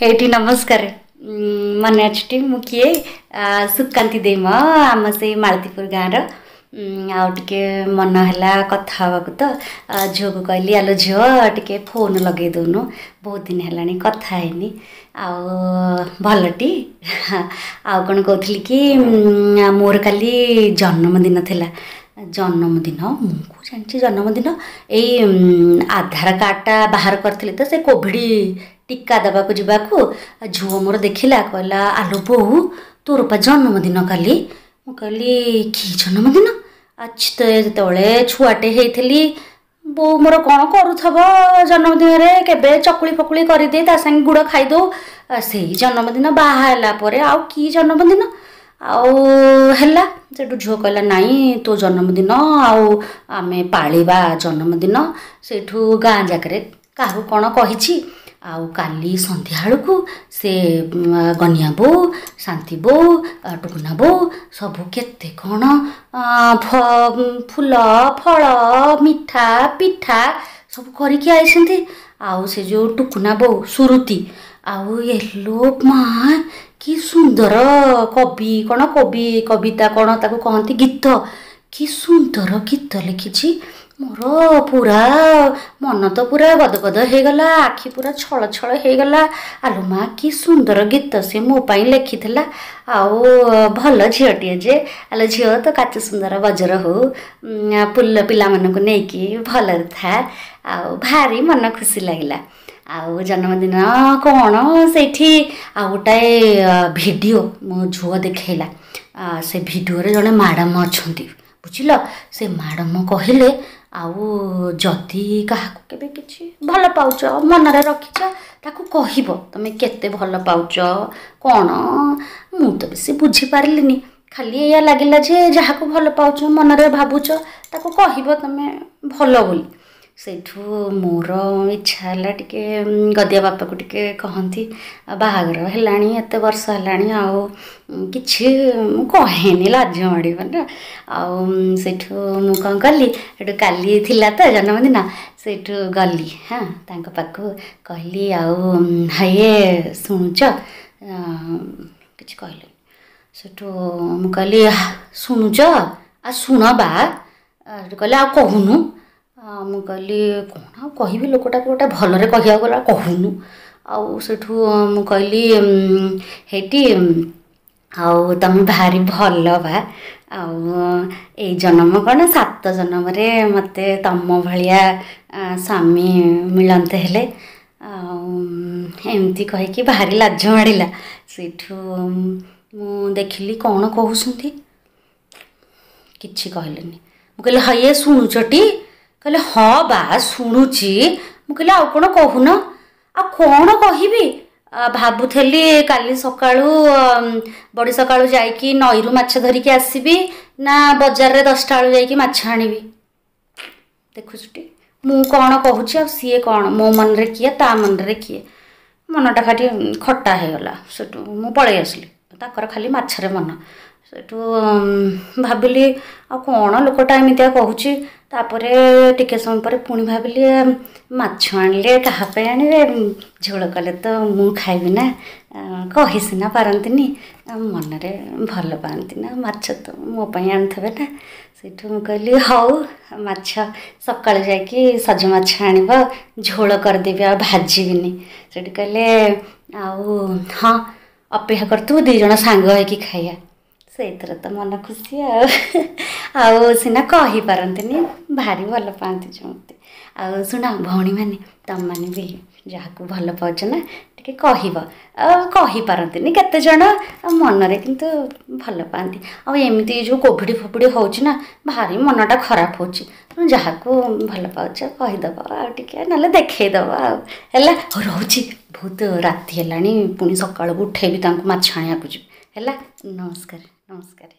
ଏଇଠି ନମସ୍କାର। ମନେ ଅଛି ମୁଁ କିଏ? ସୁକାନ୍ତି ଦେଇ ମ, ଆମ ସେଇ ମାଳତୀପୁର ଗାଁର। ଆଉ ଟିକେ ମନ ହେଲା କଥା ହେବାକୁ ତ ଝିଅକୁ କହିଲି, ଆଲୋ ଝିଅ, ଟିକେ ଫୋନ୍ ଲଗେଇ ଦେଉନୁ, ବହୁତ ଦିନ ହେଲାଣି କଥା ହେଇନି। ଆଉ ଭଲଟି? ଆଉ କ'ଣ କହୁଥିଲି କି, ମୋର କାଲି ଜନ୍ମଦିନ ଥିଲା। ଜନ୍ମଦିନ ମୁଁ ଜାଣିଛି, ଜନ୍ମଦିନ ଏଇ ଆଧାର କାର୍ଡ଼ଟା ବାହାର କରିଥିଲି ତ ସେ କୋଭିଡ଼ ଟୀକା ଦେବାକୁ ଯିବାକୁ ଝିଅ ମୋର ଦେଖିଲା, କହିଲା, ଆଲୋ ବୋଉ, ତୋର ପା ଜନ୍ମଦିନ କାଲି। ମୁଁ କହିଲି, କି ଜନ୍ମଦିନ? ଆଚ୍ଛା, ତ ଯେତେବେଳେ ଛୁଆଟେ ହେଇଥିଲି ବୋଉ ମୋର କ'ଣ କରୁଥିବ ଜନ୍ମଦିନରେ, କେବେ ଚକୁଳି ଫକୁଳି କରିଦିଏ, ତା ସାଙ୍ଗେ ଗୁଡ଼ ଖାଇଦେଉ, ସେଇ ଜନ୍ମଦିନ। ବାହା ହେଲା ପରେ ଆଉ କି ଜନ୍ମଦିନ ଆଉ ହେଲା? ସେଠୁ ଝିଅ କହିଲା, ନାଇଁ, ତୋ ଜନ୍ମଦିନ ଆଉ ଆମେ ପାଳିବା ଜନ୍ମଦିନ। ସେଇଠୁ ଗାଁ ଯାକରେ କାହାକୁ କ'ଣ କହିଛି, ଆଉ କାଲି ସନ୍ଧ୍ୟାବେଳକୁ ସେ ଗନିଆ ବୋଉ, ଶାନ୍ତି ବୋଉ, ଟୁକୁନା ବୋଉ ସବୁ କେତେ କ'ଣ ଫୁଲ, ଫଳ, ମିଠା, ପିଠା ସବୁ କରିକି ଆଇଛନ୍ତି। ଆଉ ସେ ଯେଉଁ ଟୁକୁନା ବୋଉ ସୁରୁତି, ଆଉ ଏଲୋ ମା, କି ସୁନ୍ଦର କବି, କ'ଣ କବି, କବିତା କ'ଣ ତାକୁ କହନ୍ତି, ଗୀତ, କି ସୁନ୍ଦର ଗୀତ ଲେଖିଛି। ମୋର ପୁରା ମନ ତ ପୁରା ଗଦଗଦ ହେଇଗଲା, ଆଖି ପୁରା ଛଳ ଛଳ ହେଇଗଲା। ଆଲୋ ମା, କି ସୁନ୍ଦର ଗୀତ ସେ ମୋ ପାଇଁ ଲେଖିଥିଲା। ଆଉ ଭଲ ଝିଅଟିଏ ଯେ। ଆଲୋ ଝିଅ, ତ କାଚ ସୁନ୍ଦର ବଜର ହଉ, ପିଲାମାନଙ୍କୁ ନେଇକି ଭଲରେ ଥା। ଆଉ ଭାରି ମନ ଖୁସି ଲାଗିଲା। ଆଉ ଜନ୍ମଦିନ କ'ଣ ସେଇଠି ଆଉ ଗୋଟାଏ ଭିଡ଼ିଓ ମୋ ଝିଅ ଦେଖେଇଲା। ସେ ଭିଡ଼ିଓରେ ଜଣେ ମ୍ୟାଡ଼ାମ୍ ଅଛନ୍ତି, ବୁଝିଲ? ସେ ମ୍ୟାଡ଼ାମ୍ କହିଲେ, ଆଉ ଯଦି କାହାକୁ କେବେ କିଛି ଭଲ ପାଉଛ, ମନରେ ରଖିଛ, ତାକୁ କହିବ ତମେ କେତେ ଭଲ ପାଉଛ କ'ଣ। ମୁଁ ତ ବେଶୀ ବୁଝିପାରିଲିନି, ଖାଲି ଏଇଆ ଲାଗିଲା ଯେ ଯାହାକୁ ଭଲ ପାଉଛ, ମନରେ ଭାବୁଛ, ତାକୁ କହିବ ତମେ ଭଲ ବୋଲି। ସେଇଠୁ ମୋର ଇଚ୍ଛା ହେଲା ଟିକେ ଗଦିଆ ବାପାକୁ ଟିକେ କହନ୍ତି। ବାହାଘର ହେଲାଣି, ଏତେ ବର୍ଷ ହେଲାଣି, ଆଉ କିଛି ମୁଁ କହେନି, ଲାଜ ମାଡ଼ିବ ନା। ଆଉ ସେଇଠୁ ମୁଁ କ'ଣ କଲି, ସେଠୁ କାଲି ଥିଲା ତ ଜନ୍ମଦିନ, ସେଇଠୁ ଗଲି, ହଁ, ତାଙ୍କ ପାଖକୁ କହିଲି, ଆଉ ଇଏ ଶୁଣୁଛ? କିଛି କହିଲେନି। ସେଠୁ ମୁଁ କହିଲି, ଶୁଣୁଛ, ଆଉ ଶୁଣ ବା। ସେଠୁ କହିଲେ, ଆଉ କହୁନୁ। ମୁଁ କହିଲି, କ'ଣ ଆଉ କହିବି? ଲୋକଟାକୁ ଗୋଟେ ଭଲରେ କହିବାକୁ ଗଲା, କହୁନୁ। ଆଉ ସେଠୁ ମୁଁ କହିଲି, ହେଇଟି, ଆଉ ତମେ ଭାରି ଭଲ ବା, ଆଉ ଏଇ ଜନ୍ମ କ'ଣ, 7 ଜନ୍ମରେ ମୋତେ ତମ ଭଳିଆ ସ୍ୱାମୀ ମିଳନ୍ତେ ହେଲେ। ଆଉ ଏମିତି କହିକି ଭାରି ଲାଜ ମାଡ଼ିଲା। ସେଇଠୁ ମୁଁ ଦେଖିଲି କ'ଣ କହୁଛନ୍ତି, କିଛି କହିଲେନି। ମୁଁ କହିଲି, ହଇଏ, ଶୁଣୁଛଟି? କହିଲେ, ହଁ ବା, ଶୁଣୁଛି। ମୁଁ କହିଲି, ଆଉ କ'ଣ କହୁନ? ଆଉ କ'ଣ କହିବି, ଭାବୁଥିଲି କାଲି ସକାଳୁ ବଡ଼ି ସକାଳୁ ଯାଇକି ନଈରୁ ମାଛ ଧରିକି ଆସିବି ନା ବଜାରରେ 10ଟା ବେଳୁ ଯାଇକି ମାଛ ଆଣିବି। ଦେଖୁଛୁଟି, ମୁଁ କ'ଣ କହୁଛି ଆଉ ସିଏ କ'ଣ, ମୋ ମନରେ କିଏ, ତା ମନରେ କିଏ। ମନଟା ଖାଲି ଖଟା ହେଇଗଲା। ସେଠୁ ମୁଁ ପଳେଇ ଆସିଲି। ତାଙ୍କର ଖାଲି ମାଛରେ ମନ। ସେଠୁ ଭାବିଲି, ଆଉ କ'ଣ ଲୋକଟା ଏମିତିଆ କହୁଛି। ତାପରେ ଟିକେ ସମୟ ପରେ ପୁଣି ଭାବିଲି, ମାଛ ଆଣିଲେ କାହା ପାଇଁ ଆଣିବେ? ଝୋଳ କଲେ ତ ମୁଁ ଖାଇବି ନା। କହି ସିନା ପାରନ୍ତିନି, ମନରେ ଭଲ ପାଆନ୍ତି ନା, ମାଛ ତ ମୋ ପାଇଁ ଆଣୁଥିବେ ନା। ସେଇଠୁ ମୁଁ କହିଲି, ହଉ, ମାଛ ସକାଳୁ ଯାଇକି ସଜ ମାଛ ଆଣିବ, ଝୋଳ କରିଦେବି, ଆଉ ଭାଜିବିନି। ସେଇଠି କହିଲେ, ଆଉ ହଁ, ଅପେକ୍ଷା କରିଥିବୁ, 2 ଜଣ ସାଙ୍ଗ ହେଇକି ଖାଇବା। ସେଇଥିରେ ତ ମନ ଖୁସି। ଆଉ ଆଉ ସିନା କହିପାରନ୍ତିନି, ଭାରି ଭଲ ପାଆନ୍ତି ଯେମିତି। ଆଉ ଶୁଣ ଭଉଣୀମାନେ, ତମମାନେ ବି ଯାହାକୁ ଭଲ ପାଉଛ ନା, ଟିକେ କହିବ। ଆଉ କହିପାରନ୍ତିନି କେତେ ଜଣ, ଆଉ ମନରେ କିନ୍ତୁ ଭଲ ପାଆନ୍ତି। ଆଉ ଏମିତି ଯେଉଁ କୋଭିଡ଼ ଫୋଭିଡ଼ ହେଉଛି ନା, ଭାରି ମନଟା ଖରାପ ହେଉଛି। ଯାହାକୁ ଭଲ ପାଉଛ କହିଦେବ, ଆଉ ଟିକେ ନହେଲେ ଦେଖେଇଦେବ। ଆଉ ହେଲା, ହଉ ରହୁଛି, ବହୁତ ରାତି ହେଲାଣି, ପୁଣି ସକାଳକୁ ଉଠେଇବି ତାଙ୍କୁ, ମାଛ ଆଣିବାକୁ ଯିବି। ହେଲା, ନମସ୍କାର, ନମସ୍କାର।